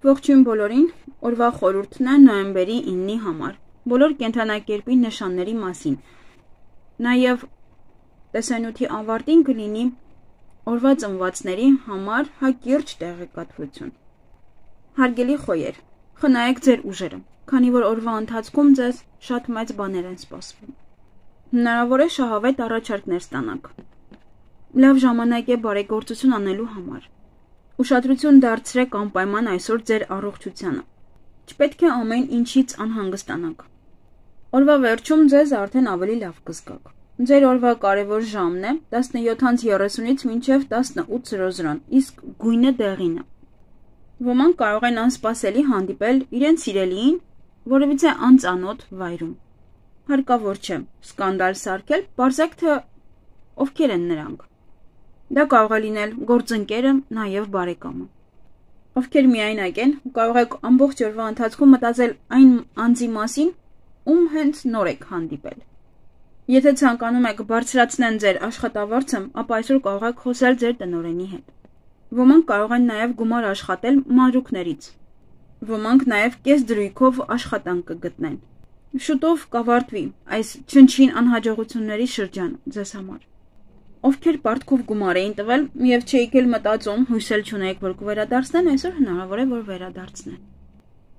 Ողջույն բոլորին, օրվա խորհուրդն է նոյեմբերի 9-ի համար, բոլոր կենդանակերպի նշանների մասին, նաև տեսանյութի ավարտին կլինի օրվա ծնվածների համար հակիրճ տեղեկատվություն։ Հարգելի խոյեր, խնայեք ձեր ուժերը, քանի որ օրվա ընթացքում ձեզ շատ մեծ բաներ են սպասվում։ Հնարավոր է շահավետ առաջարկներ ստանաք։ Լավ ժամանակ է բարեգործություն անելու համար։ Ուշադրություն դարձրեք անպայման այսօր ձեր առողջությանը։ Չպետք է ամեն ինչից անհանգստանաք։ Օրվա վերջում ձեզ արդեն ավելի լավ կզգաք։ Ձեր օրվա կարևոր ժամն է 17:30-ից մինչև 18:00, իսկ գույնը դեղին է։ Ոմանք կարող են անսպասելի հանդիպել իրենց սիրելիին որևիցե անծանոթ վայրում։ Հարկավոր չէ սկանդալ սարքել, պարզեք թե ովքեր են նրանք։ Դա կարող է լինել գործընկերը, նաև բարեկամը։ Ովքեր միայնակ են, կարող եք ամբողջ օրվա ընթացքում մտածել այն անձի մասին, ում հենց նոր եք հանդիպել։ Եթե ցանկանում եք բարձրացնել ձեր աշխատավարձը, ապա այսօր կարող եք խոսել ձեր տնօրենի հետ։ Ոմանք կարող են նաև գումար աշխատել մանրուքներից։ Ոմանք նաև կես դրույքով աշխատանք կգտնեն։ Շուտով կավարտվի այս չնչին անհաջողությունների շրջանը ձեզ համար։ Ովքեր պարտքով գումար էին տվել եւ չէիք էլ մտածում, հույսել չունեիք, որ կվերադարձնեն, այսօր հնարավոր է, որ վերադարձնեն։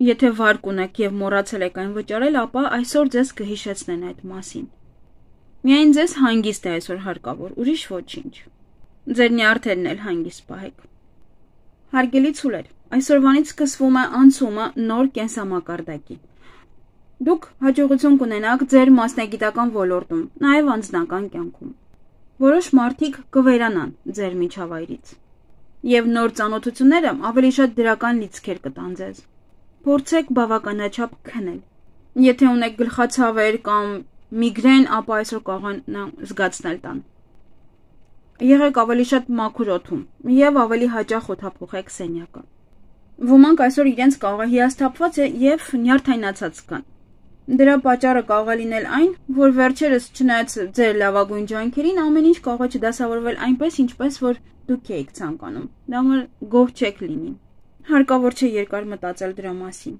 Եթե վարկ ունեք եւ մոռացել եք այն վճարել, ապա այսօր ձեզ կհիշեցնեն այդ մասին։ Միայն ձեզ հանգիստ է այսօր հարկավոր, ուրիշ ոչինչ։ Ձեր նյարդերն էլ հանգիստ պահեք։ Հարգելի ցուլեր, այսօրվանից սկսվում է անցումը նոր կենսամակարդակի։ Դուք հաջողություն կունենաք ձեր մասնագիտական ոլորտում, նաեւ անձնական կյանքում։ Որոշ մարդիկ կվերանան ձեր միջավայրից, եւ նոր ծանոթությունները ավելի շատ դրական լիցքեր կտան ձեզ։ Փորձեք բավականաչափ քնել։ Եթե ունեք գլխացավեր կամ միգրեն, ապա այսօր կարող են զգացնել տան։ Եղեք ավելի շատ մաքուր օդում եւ ավելի հաճախ օդափոխեք սենյակը։ Ոմանք այսօր իրենց կարող է հիասթափված եւ նյարդայնացած կան։ Դրա պատճառը կարող է լինել այն, որ վերջերս չնայած ձեր լավագույն ջանքերին, ամեն ինչ կարող է չդասավորվել այնպես, ինչպես որ դուք էիք ցանկանում։ Դա որ գոհ չեք լինի։ Հարկավոր չէ երկար մտածել դրա մասին։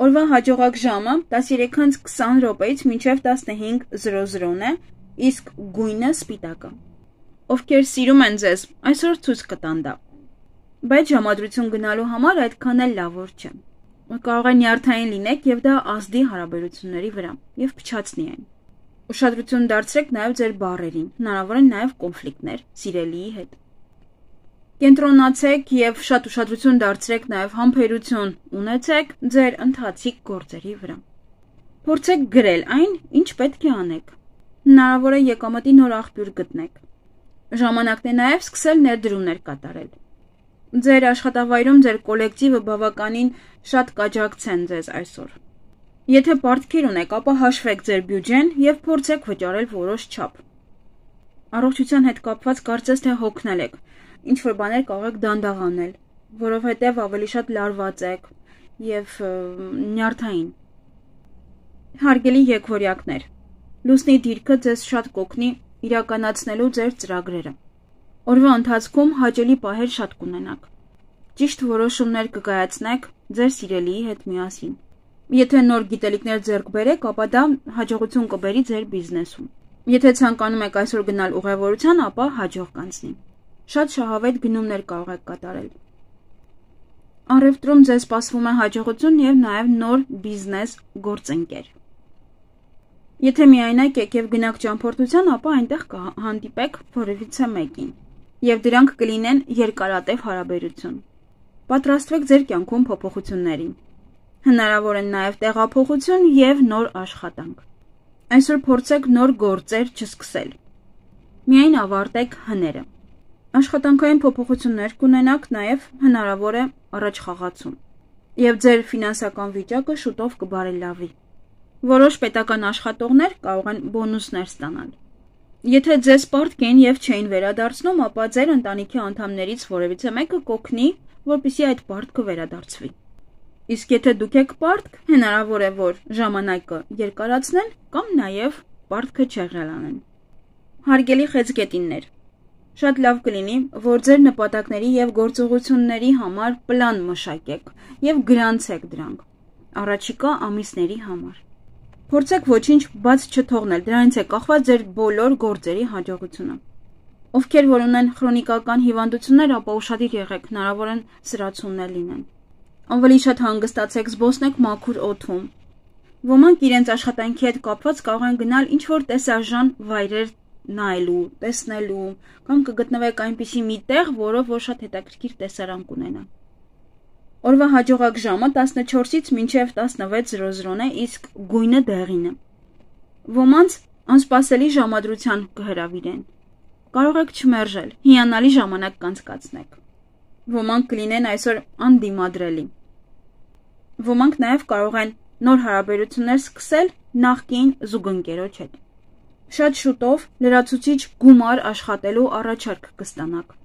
Օրվա հաջողակ ժամը 13:20 րոպեից մինչև 15:00 է, իսկ գույնը սպիտակը։ Ովքեր սիրում են ձեզ, այսօր ցույց կտան դա։ Բայց ժամադրություն գնալու համար այդքան էլ լավ չէ։ Կարող է նյարդային լինեք եւ դա ազդի հարաբերությունների վրա եւ փչացնի այն։ Ուշադրություն դարձրեք նաեւ ձեր բառերին, հնարավոր են նաեւ կոնֆլիկտներ սիրելիի հետ։ Կենտրոնացեք եւ շատ ուշադրություն դարձրեք նաեւ համբերություն ունեցեք ձեր ընթացիկ գործերի վրա։ Փորձեք գրել այն, ինչ պետք է անեք։ Հնարավոր է եկամտի նոր աղբյուր գտնեք։ Ժամանակն է նաեւ սկսել ներդրումներ կատարել։ Ձեր աշխատավայրում ձեր կոլեկտիվը բավականին շատ կաջակցեն ձեզ այսօր։ Եթե պարտքեր ունեք, ապա հաշվեք ձեր բյուջեն եւ փորձեք վճարել որոշ չափ։ Առողջության հետ կապված կարծես թե հոգնել եք, ինչ որ բաներ կարող եք դանդաղ անել, որովհետեւ ավելի շատ լարված եք եւ նյարդային։ Հարգելի եկվորյակներ, լուսնի դիրքը ձեզ շատ կօգնի իրականացնելու ձեր ծրագրերը։ Օրվա ընթացքում հաճելի պահեր շատ կունենաք։ Ճիշտ որոշումներ կկայացնեք ձեր սիրելիի հետ միասին։ Եթե նոր գիտելիքներ ձեռք բերեք, ապա դա հաջողություն կբերի ձեր բիզնեսում։ Եթե ցանկանում եք այսօր գնալ ուղևորության, ապա հաջող կանցնի։ Շատ շահավետ գնումներ կարող եք կատարել։ Առևտրում ձեզ սպասվում է հաջողություն եւ նաեւ նոր բիզնես գործընկեր։ Եթե միայնակ եք եւ գնաք ճամփորդության, ապա այնտեղ կհանդիպեք որևիցե մեկին, եւ դրանք կլինեն երկարատև հարաբերություն։ Պատրաստվեք ձեր կյանքում փոփոխություններին։ Հնարավոր են նաեւ տեղափոխություն եւ նոր աշխատանք։ Այսօր փորձեք նոր գործեր չսկսել։ Միայն ավարտեք հները։ Աշխատանքային փոփոխություններ կունենաք, նաեւ հնարավոր է առաջխաղացում։ Եվ ձեր ֆինանսական վիճակը շուտով կբարելավի։ Որոշ պետական աշխատողներ կարող են բոնուսներ ստանալ։ Եթե ձեզ պարտք են եւ չէին վերադարձնում, ապա ձեր ընտանիքի անդամներից որևիցե մեկը կօգնի, որպեսզի այդ պարտքը վերադարձվի։ Իսկ եթե դուք եք պարտք, հնարավոր է, որ ժամանակը երկարացնեն կամ նաեւ պարտքը չեղելանեն։ Հարգելի խեցգետիններ, Շատ լավ կլինի, որ ձեր նպատակների եւ գործողությունների համար պլան մշակեք եւ գրանցեք դրանք առաջիկա ամիսների համար։ Փորձեք ոչինչ բաց չթողնել, դրանից է կախված ձեր բոլոր գործերի հաջողությունը։ Ովքեր որ ունեն քրոնիկական հիվանդություններ, ապա ուշադիր եղեք, հնարավոր են սրացումներ լինեն։ Ավելի շատ հանգստացեք, զբոսնեք մաքուր օդում։ Ոմանք իրենց աշխատանքի հետ կապված կարող են գնալ ինչ-որ տեսարժան վայրեր նայելու, տեսնելու, կամ կգտնվեք այնպիսի մի տեղ, որով որ շատ հետաքրքիր տեսարան կունենա։ Օրվա հաջողակ ժամը 14-ից մինչև 16:00 է, իսկ գույնը դեղինը։ Ոմանց անսպասելի ժամադրության կհրավիրեն։ Կարող եք չմերժել, հիանալի ժամանակ կանցկացնեք։ Ոմանք կլինեն այսօր անդիմադրելի։ Ոմանք նաև կարող են նոր հարաբերություններ սկսել նախկին զուգընկերոջ հետ։ Շատ շուտով լրացուցիչ գումար աշխատելու առաջարկ կստանաք։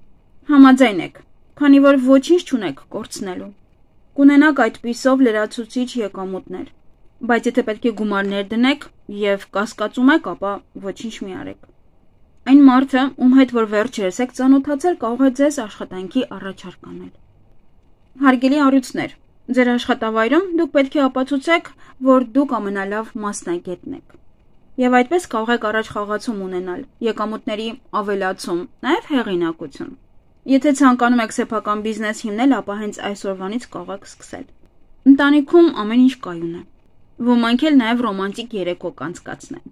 Համաձայն եք, քանի որ ոչինչ չունեք կորցնելու։ Կունենաք այդպիսով լրացուցիչ եկամուտներ, բայց եթե պետք է գումարներ դնեք եւ կասկածում եք, ապա ոչինչ մի արեք։ Այն մարդը, ում հետ որ վերջերս եք ծանոթացել, կարող է ձեզ աշխատանքի առաջարկ անել։ Հարգելի առյուծներ, ձեր աշխատավայրում դուք պետք է ապացուցեք, որ դուք ամենալավ մասնագետն եք։ Եվ այդպես կարող եք առաջ խաղացում ունենալ, եկամուտների ավելացում, նաև հեղինակություն։ Եթե ցանկանում եք սեփական բիզնես հիմնել, ապա հենց այսօրվանից կարող եք սկսել։ Ընտանիքում ամեն ինչ կայուն է։ Ոմանք էլ նաև ռոմանտիկ երեկո կանցկացնեն։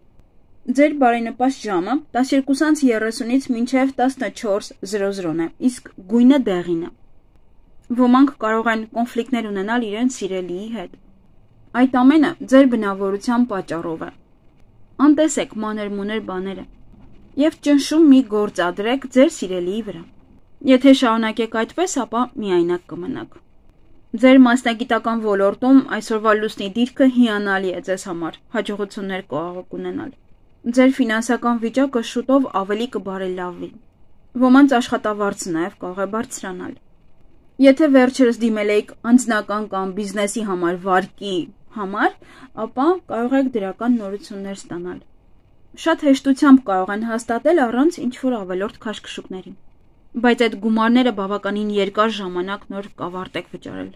Ձեր բարենպաստ ժամը 12:30-ից մինչև 14:00 է, իսկ գույնը դեղինը։ Ոմանք կարող են կոնֆլիկտներ ունենալ իրենց սիրելիի հետ։ Այդ ամենը ձեր բնավորության պատճառով է։ Անտեսեք մանր-մուներ բաները եւ ճնշում մի գործադրեք ձեր սիրելիի վրա։ Եթե շարունակեք այդպես, ապա միայնակ կմնաք։ Ձեր մասնագիտական ոլորտում այսօրվա լուսնի դիրքը հիանալի է ձեզ համար, հաջողություններ կարող ունենալ։ Ձեր ֆինանսական վիճակը շուտով ավելի կբարելավվի։ Ոմանց աշխատավարձը նաև կարող է բարձրանալ։ Եթե վերջերս դիմել եք անձնական կամ բիզնեսի համար վարկի համար, ապա կարող եք դրական նորություններ ստանալ։ Շատ հեշտությամբ կարող են հաստատել առանց ինչ-որ ավելորդ քաշքշուկների։ Բայց այդ գումարները բավականին երկար ժամանակ նոր կավարտեք վճարել։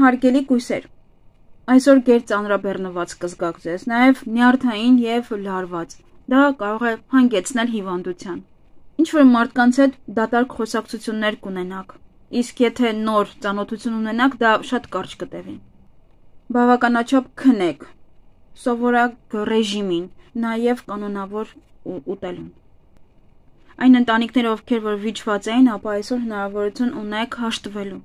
Հարգելի կույսեր, այսօր գերծանրաբեռնված կզգաք ձեզ, նաև նյարդային եւ լարված։ Դա կարող է հանգեցնել հիվանդության։ Ինչ-որ մարդկանց հետ դատարկ խոսակցություններ կունենաք, իսկ եթե նոր ծանոթություն ունենաք, դա շատ կարճ կտևի։ Բավականաչափ քնեք, սովորակ ռեժիմին, նաև կանոնավոր ուտելուն։ Այն ընտանիքները, ովքեր որ վիճված էին, ապա այսօր հնարավորություն ունեք հաշտվելու։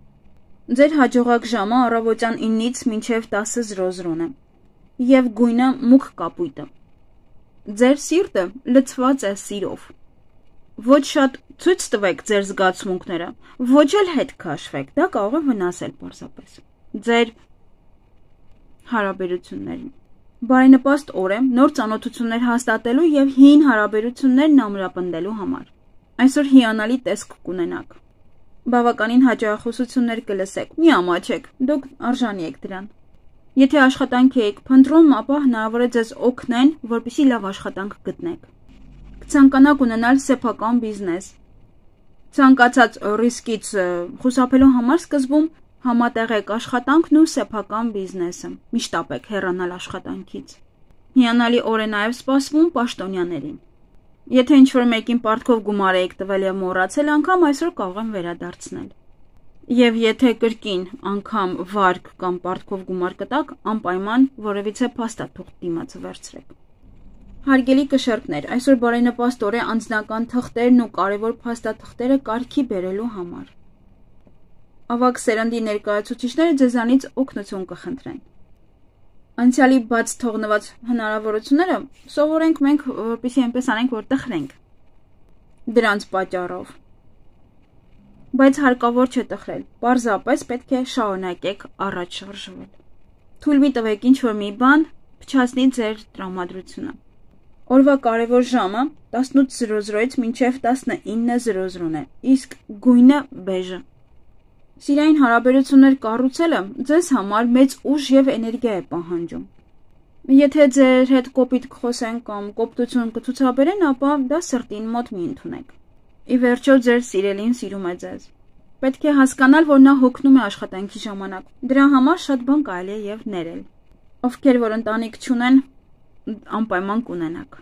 Ձեր հաջողակ ժամը առավոտյան 9-ից մինչև 10:00 է, եւ գույնը մուգ կապույտը։ Ձեր սիրտը լցված է սիրով։ Ոչ շատ ցույց տվեք ձեր զգացմունքները, ոչ էլ հետ քաշվեք, դա կարող է վնասել պարզապես ձեր հարաբերություններին։ Բարենպաստ օր է նոր ծանոթություններ հաստատելու եւ հին հարաբերություններն ամրապնդելու համար։ Այսօր հիանալի տեսք կունենաք։ Բավականին հաճախոսություններ կլսեք, մի ամաչեք, դուք արժանի եք դրան։ Եթե աշխատանք եք փնտրում, ապա հնարավոր է ձեզ օգնեն, որպեսզի լավ աշխատանք գտնեք։ Կցանկանաք ունենալ սեփական բիզնես։ Ցանկացած ռիսկից խուսափելու համար սկզբում համատեղեք աշխատանքն ու սեփական բիզնեսը։ Միշտ ապեք հեռանալ աշխատանքից։ Հիանալի օր է նաև սպասվում պաշտոնյաներին։ Եթե ինչ-որ մեկին պարտքով գումար եք տվել եւ մոռացել, անգամ այսօր կարող են վերադարձնել։ Եվ եթե կրկին անգամ վարկ կամ պարտքով գումար կտաք, անպայման որևիցե փաստաթուղթ դիմացը վերցրեք։ Հարգելի կշեռքներ, այսօր բարենպաստ օր է անձնական թղթերն ու կարևոր փաստաթղթերը կարգի բերելու համար։ Ավագ սերնդի ներկայացուցիչները ձեզանից օգնություն կխնդրեն։ Անցյալի բաց թողնված հնարավորությունները սովորենք մենք, որպեսզի այնպես անենք, որ տխրենք դրանց պատճառով։ Բայց հարկավոր չէ տխրել, պարզապես պետք է շարունակեք առաջ շարժվել։ Թույլ մի տվեք ինչ-որ մի բան փչացնի ձեր տրամադրությունը։ Օրվա կարևոր ժամը 18:00-ից մինչև 19:00 է, իսկ գույնը բեժը։ Սիրային հարաբերություններ կառուցելը ձեզ համար մեծ ուժ եւ էներգիա է պահանջում։ Եթե ձեր հետ կոպիտ կխոսեն կամ կոպտություն կցուցաբերեն, ապա դա սրտին մոտ մի ընդունեք։ Ի վերջո ձեր սիրելին սիրում է ձեզ։ Պետք է հասկանալ, որ նա հոգնում է աշխատանքի ժամանակ։ Դրա համար շատ բան կարելի է եւ ներել։ Ովքեր որ ընտանիք չունեն, անպայման կունենաք։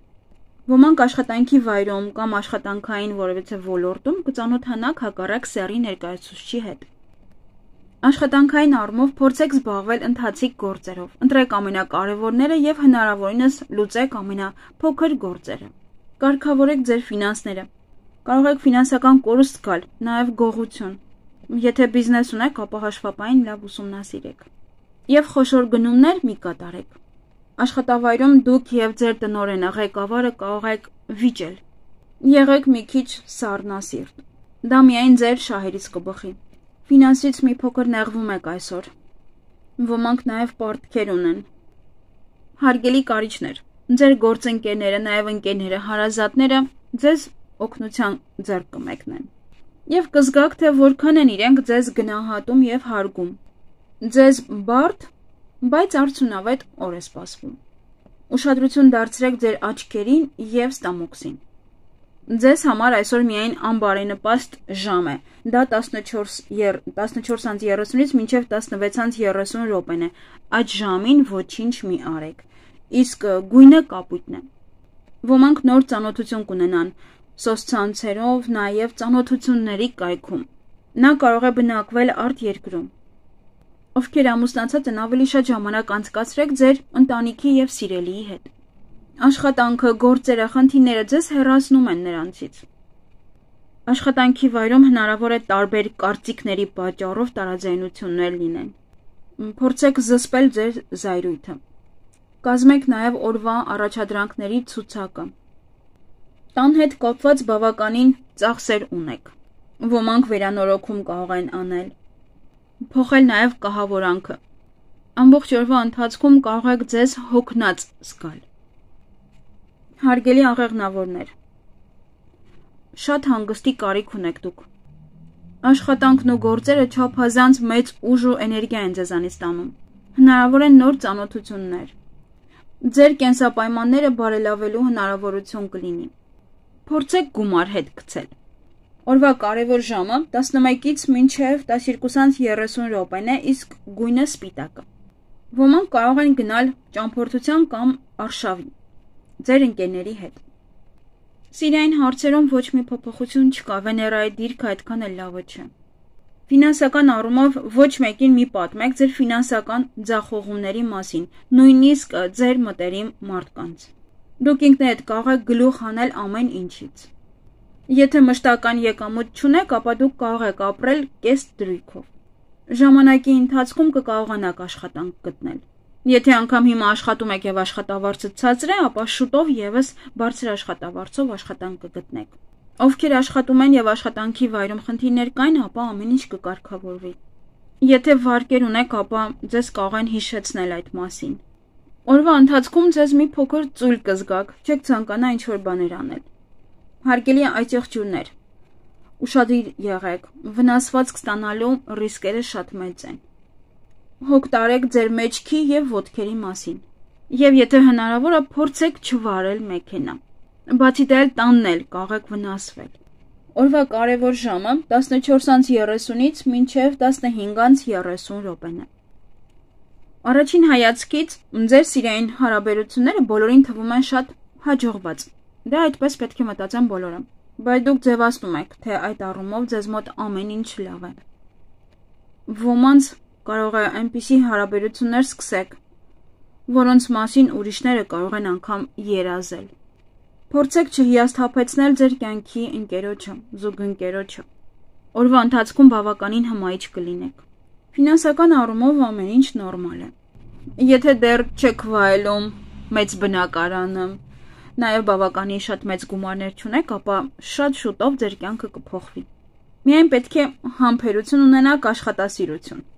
Ոմանք աշխատանքի վայրում կամ աշխատանքային որևէ ոլորտում կծանոթանաք հակառակ սեռի ներկայացուցչի հետ։ Աշխատանքային առումով փորձեք զբաղվել ընթացիկ գործերով։ Ընտրեք ամենակարևորները եւ հնարավորինս լուծեք ամենափոքր գործերը։ Կարգավորեք ձեր ֆինանսները։ Կարող եք ֆինանսական կորուստ գալ, նաեւ գողություն։ Եթե բիզնես ունեք, ապա հաշվապային լավ ուսումնասիրեք։ Եվ խոշոր գնումներ մի կատարեք։ Աշխատավայրում դուք եւ ձեր տնօրենը ղեկավարը կարող եք վիճել։ Եղեք մի քիչ սառնասիրտ։ Դա միայն ձեր շահերից կբխի։ Ֆինանսից մի փոքր նեղվում եք այսօր։ Ոմանք նաև պարտքեր ունեն։ Հարգելի կարիճներ, ձեր գործընկերները, նաև ընկերները, հարազատները ձեզ օգնության ձեռք կմեկնեն։ Եվ կզգաք, թե որքան են իրենք ձեզ գնահատում եւ հարգում։ Ձեզ բարդ, բայց արդյունավետ օր է սպասվում։ Ուշադրություն դարձրեք ձեր աչքերին եւ ստամոքսին։ Ձեզ համար այսօր միայն անբարենպաստ ժամ է։ Դա 14:30-ից մինչև 16:30 րոպեն է։ Այդ ժամին ոչինչ մի արեք։ Իսկ գույնը կապույտն է։ Ոմանք նոր ծանոթություն կունենան սոցցանցերով, նաև ծանոթությունների կայքում։ Նա կարող է բնակվել արտերկրում։ Ովքեր ամուսնացած են, ավելի շատ ժամանակ անցկացրեք ձեր ընտանիքի եւ սիրելիի հետ։ Աշխատանքը, գործերը, խնդիրները ձեզ հեռացնում են նրանցից։ Աշխատանքի վայրում հնարավոր է տարբեր կարծիքների պատճառով տարաձայնություններ լինեն։ Փորձեք զսպել ձեր զայրույթը։ Կազմեք նաև օրվա առաջադրանքների ցուցակը։ Տան հետ կապված բավականին ծախսեր ունեք։ Ոմանք վերանորոգում կարող են անել։ Փոխել նաև կահավորանքը։ Ամբողջ օրվա ընթացքում կարող եք ձեզ հոգնած զգալ։ Հարգելի աղեղնավորներ, շատ հանգստի կարիք ունեք դուք։ Աշխատանքն ու գործերը չափազանց մեծ ուժ ու էներգիա են ձեզանից տանում։ Հնարավոր են նոր ծանոթություններ։ Ձեր կենսապայմանները բարելավելու հնարավորություն կլինի։ Փորձեք գումար հետ գցել։ Օրվա կարևոր ժամը 11-ից մինչև 12:30 րոպեն է, իսկ գույնը սպիտակը։ Ոմանք կարող են գնալ ճամփորդության կամ արշավի ձեր ընկերների հետ։ Սիրային հարցերում ոչ մի փոփոխություն չկա, Վեներայի դիրքը այդքան էլ լավը չէ։ Ֆինանսական առումով ոչ մեկին մի պատմեք ձեր ֆինանսական ձախողումների մասին, նույնիսկ ձեր մտերիմ մարդկանց։ Դուք ինքներդ կարող եք գլուխ հանել ամեն ինչից։ Եթե մշտական եկամուտ չունեք, ապա դուք կարող եք ապրել կես դրույքով։ Ժամանակի ընթացքում կկարողանաք աշխատանք գտնել։ Եթե անգամ հիմա աշխատում եք եւ աշխատավարձը ցածր է, ապա շուտով եւս բարձր աշխատավարձով աշխատանք կգտնեք։ Ովքեր աշխատում են եւ աշխատանքի վայրում խնդիրներ կային, ապա ամեն ինչ կկարգավորվի։ Եթե վարկեր ունեք, ապա ձեզ կարող են հիշեցնել այդ մասին։ Օրվա ընթացքում ձեզ մի փոքր ծույլ կզգաք, չեք ցանկանա ինչ-որ բաներ անել։ Հարգելի այծեղջյուրներ, ուշադիր եղեք, վնասվածք ստանալու ռիսկերը շատ մեծ են։ Հոգ տարեք ձեր մեջքի եւ ոտքերի մասին։ Եվ եթե հնարավոր է, փորձեք չվարել մեքենա։ Բացի դա տանն էլ կարող եք վնասվել։ Օրվա կարևոր ժամը 14:30-ից մինչև 15:30 րոպեն է։ Առաջին հայացքից ձեր սիրային հարաբերությունները բոլորին թվում են շատ հաջողված։ Դա այդպես պետք է մտածեն բոլորը։ Բայց դուք ձևացնում եք, թե այդ առումով ձեզ մոտ ամեն ինչ լավ է։ Ոմանց կարող է այնպիսի հարաբերություններ սկսեք, որոնց մասին ուրիշները կարող են անգամ երազել։ Փորձեք չհիասթափեցնել ձեր կյանքի ընկերոջը, զուգընկերոջը։ Օրվա ընթացքում բավականին հմայիչ կլինեք։ Ֆինանսական առումով ամեն ինչ նորմալ է։ Եթե դեռ չեք վայելում մեծ բնակարանը, նաև բավականին շատ մեծ գումարներ չունեք, ապա շատ շուտով ձեր կյանքը կփոխվի։ Միայն պետք է համբերություն ունենաք, աշխատասիրություն։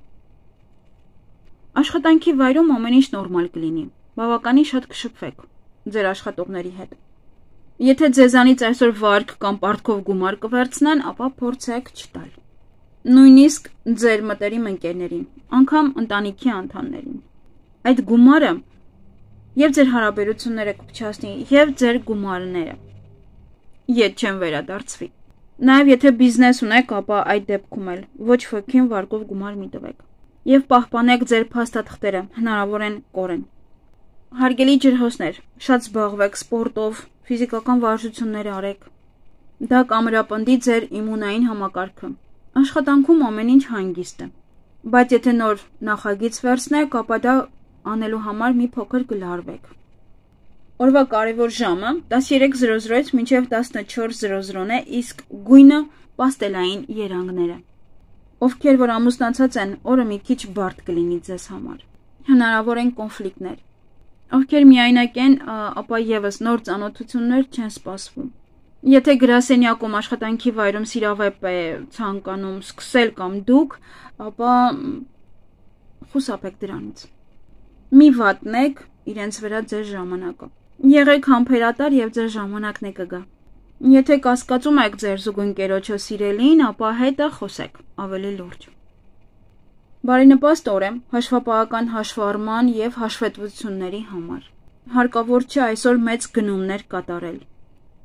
Աշխատանքի վայրում ամեն ինչ նորմալ կլինի։ Բավականին շատ կշփվեք ձեր աշխատողների հետ։ Եթե ձեզանից այսօր վարկ կամ պարտքով գումար կվերցնեն, ապա փորձեք չտալ։ Նույնիսկ ձեր մտերիմ ընկերներին, անգամ ընտանիքի անդամներին։ Այդ գումարը եւ ձեր հարաբերությունները կփչացնի, եւ ձեր գումարները։ Ետ չեն վերադարձվի։ Նաև եթե բիզնես ունեք, ապա այդ դեպքում էլ ոչ ոքին վարկով գումար մի տվեք։ Եվ պահպանեք ձեր փաստաթղթերը, հնարավոր են կորեն։ Հարգելի ջրհոսներ, շատ զբաղվեք սպորտով, ֆիզիկական վարժություններ արեք։ Դա կամրապնդի ձեր իմունային համակարգը։ Աշխատանքում ամեն ինչ հանգիստ է։ Բայց եթե նոր նախագիծ վերցնեք, ապա դա անելու համար մի փոքր կլարվեք։ Օրվա կարևոր ժամը 13:00-ից մինչև 14:00 է, իսկ գույնը պաստելային երանգները։ Ովքեր որ ամուսնացած են, օրը մի քիչ բարդ կլինի ձեզ համար։ Հնարավոր են կոնֆլիկտներ։ Ովքեր միայնակ են, ապա եւս նոր ծանոթություններ չեն սպասվում։ Եթե գրասենյակում աշխատանքի վայրում սիրավեպ է ցանկանում սկսել կամ դուք, ապա խուսափեք դրանից։ Մի վատնեք իրենց վրա ձեր ժամանակը։ Եղեք համբերատար եւ ձեր ժամանակն է կգա։ Եթե կասկածում եք ձեր զուգընկերոջը սիրելին, ապա հետը խոսեք ավելի լուրջ։ Բարենպաստ օր է հաշվապահական հաշվառման եւ հաշվետվությունների համար։ Հարկավոր չէ այսօր մեծ գնումներ կատարել։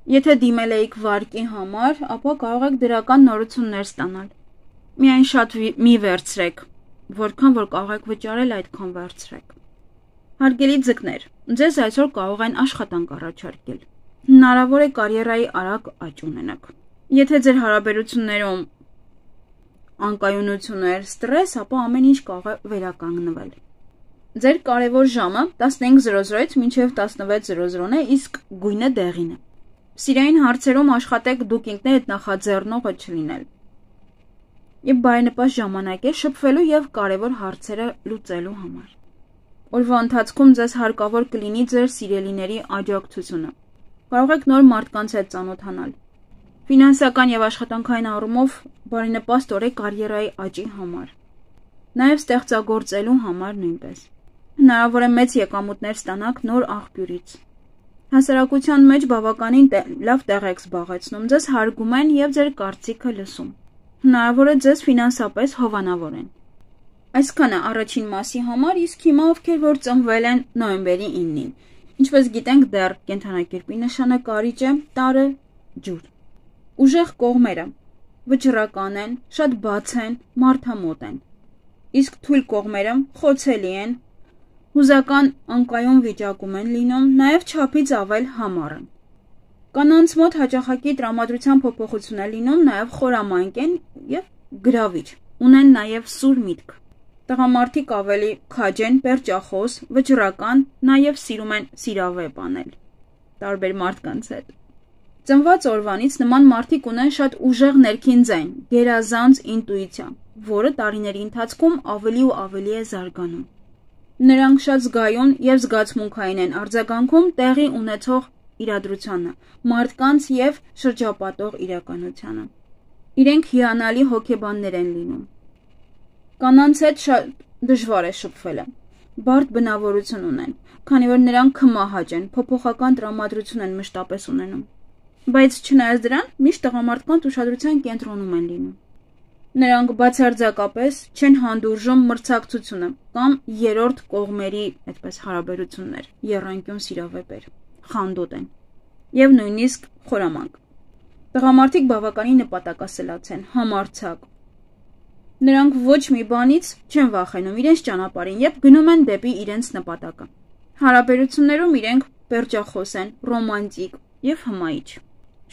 Եթե դիմել եք վարկի համար, ապա կարող եք դրական նորություններ ստանալ։ Միայն շատ մի վերցրեք, որքան որ կարող եք վճարել, այդքան վերցրեք։ Հարգելի ձկներ, ձեզ այսօր կարող են աշխատանք առաջարկել։ Հնարավոր է կարիերայի արագ աճ ունենաք։ Եթե ձեր հարաբերություններում անկայունություններ, ստրես, ապա ամեն ինչ կարող է վերականգնվել։ Ձեր կարևոր ժամը 15:00-ից մինչև 16:00 է, իսկ գույնը դեղին է։ Սիրային հարցերում աշխատեք դուք ինքներդ նախաձեռնողը չլինել։ Եվ բարենպաստ ժամանակ է շփվելու եւ կարևոր հարցերը լուծելու համար։ Օրվա ընթացքում ձեզ հարկավոր կլինի ձեր սիրելիների աջակցությունը։ Կարող եք նոր մարդկանց հետ ծանոթանալ։ Ֆինանսական եւ աշխատանքային առումով բարենպաստ օր է կարիերայի աճի համար։ Նաեւ ստեղծագործելու համար նույնպես։ Հնարավոր է մեծ եկամուտներ ստանաք նոր աղբյուրից։ Հասարակության մեջ բավականին լավ տեղ եք զբաղեցնում, ձեզ հարգում են եւ ձեր կարծիքը լսում։ Հնարավոր է ձեզ ֆինանսապես հովանավորեն։ Այսքանը առաջին մասի համար, իսկ հիմա ովքեր որ ծնվել են նոյեմբերի 9-ին։ Ինչպես գիտենք, դեռ կենդանակերպի նշանակարիչ է տարը ջուր։ Ուժեղ կողմերը վճռական են, շատ բաց են, մարդամոտ են։ Իսկ թույլ կողմերը խոցելի են, հուզական անկայուն վիճակում են լինում, նաև չափից ավել համառ են։ Կանանց մոտ հաճախակի տրամադրության փոփոխություն է լինում, նաև խորամանկ են եւ գրավիչ, ունեն նաև սուր միտք։ Տղամարդիկ ավելի քաջ են, պերճախոս, վճռական, նաև սիրում են սիրավեպ անել տարբեր մարդկանց հետ։ Ծնված օրվանից նման մարդիկ ունեն շատ ուժեղ ներքին ձայն, գերազանց ինտուիցիա, որը տարիների ընթացքում ավելի ու ավելի է զարգանում։ Նրանք շատ զգայուն եւ զգացմունքային են արձագանքում տեղի ունեցող իրադրությանը, մարդկանց եւ շրջապատող իրականությանը։ Իրենք հիանալի հոգեբաններ են լինում։ Կանանց հետ շատ դժվար է շփվելը։ Բարդ բնավորություն ունեն, քանի որ նրանք քմահաճ են, փոփոխական տրամադրություն են մշտապես ունենում։ Բայց չնայած դրան, միշտ տղամարդկանց ուշադրության կենտրոնում են լինում։ Նրանք բացարձակապես չեն հանդուրժում մրցակցությունը կամ երրորդ կողմերի այդպես հարաբերություններ, եռանկյուն սիրավեպեր, խանդոտ են եւ նույնիսկ խորամանկ։ Տղամարդիկ բավականին նպատակասլաց են, համարձակ։ Նրանք ոչ մի բանից չեն վախենում իրենց ճանապարհին եւ գնում են դեպի իրենց նպատակը։ Հարաբերություններում իրենք պերճախոս են, ռոմանտիկ եւ հմայիչ։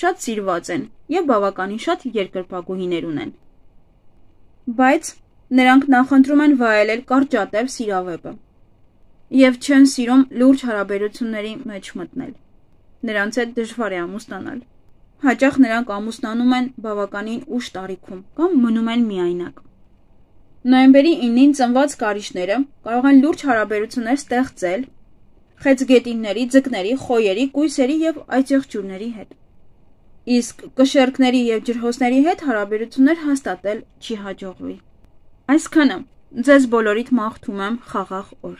Շատ սիրված են եւ բավականին շատ երկրպագուհիներ ունեն։ Բայց նրանք նախընտրում են վայելել կարճատև սիրավեպը եւ չեն սիրում լուրջ հարաբերությունների մեջ մտնել։ Նրանց հետ դժվար է ամուսնանալ։ Հաճախ նրանք ամուսնանում են բավականին ուշ տարիքում կամ մնում են միայնակ։ Նոյեմբերի 9-ին ծնված կարիճները կարող են լուրջ հարաբերություններ ստեղծել խեցգետինների, ձկների, խոյերի, կույսերի եւ այծեղջյուրների հետ։ Իսկ կշերկների եւ ջրհոսների հետ հարաբերություններ հաստատել չի հաջողվի։ Այսքանը ձեզ բոլորիդ մաղթում եմ խաղաղ օր։